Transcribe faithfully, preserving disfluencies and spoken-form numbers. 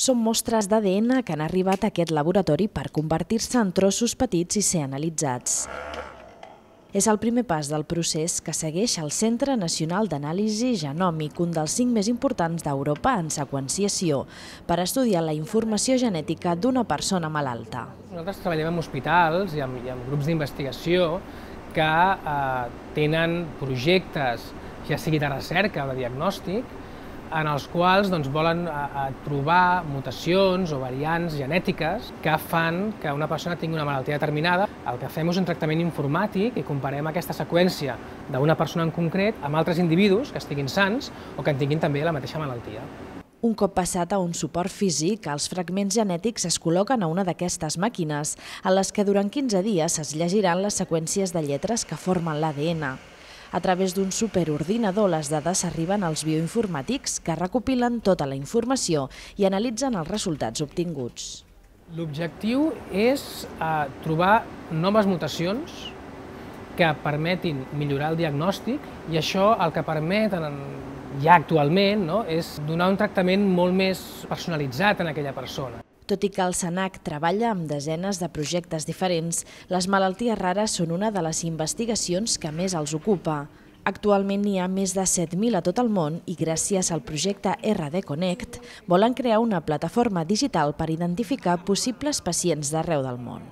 Són mostres d'A D N que han arribat a aquest laboratori per convertir-se en trossos petits i ser analitzats. És el primer pas del procés que segueix el Centre Nacional d'Anàlisi Genòmic, un dels cinc més importants d'Europa en seqüenciació, per estudiar la informació genètica d'una persona malalta. Nosaltres treballem en hospitals i en, i en grups d'investigació que eh, tenen projectes, ja sigui de recerca o de diagnòstic, en els quals doncs, volen eh, trobar mutacions o variants genètiques que fan que una persona tingui una malaltia determinada. El que fem és un tractament informàtic i comparem aquesta seqüència d'una persona en concret amb altres individus que estiguin sans o que en tinguin també la mateixa malaltia. Un cop passat a un suport físic, els fragments genètics es col·loquen a una d'aquestes màquines, en les que durant quinze dies es llegiran les seqüències de lletres que formen l'A D N. A través d'un superordinador, les dades arriben als bioinformàtics que recopilen tota la informació i analitzen els resultats obtinguts. L'objectiu és eh, trobar noves mutacions que permetin millorar el diagnòstic i això el que permet ja actualment no, és donar un tractament molt més personalitzat en aquella persona. Tot i que el SENAC treballa amb desenes de projectes diferents, les malalties rares són una de les investigacions que més els ocupa. Actualment n'hi ha més de set mil a tot el món i gràcies al projecte R D Connect volen crear una plataforma digital per identificar possibles pacients d'arreu del món.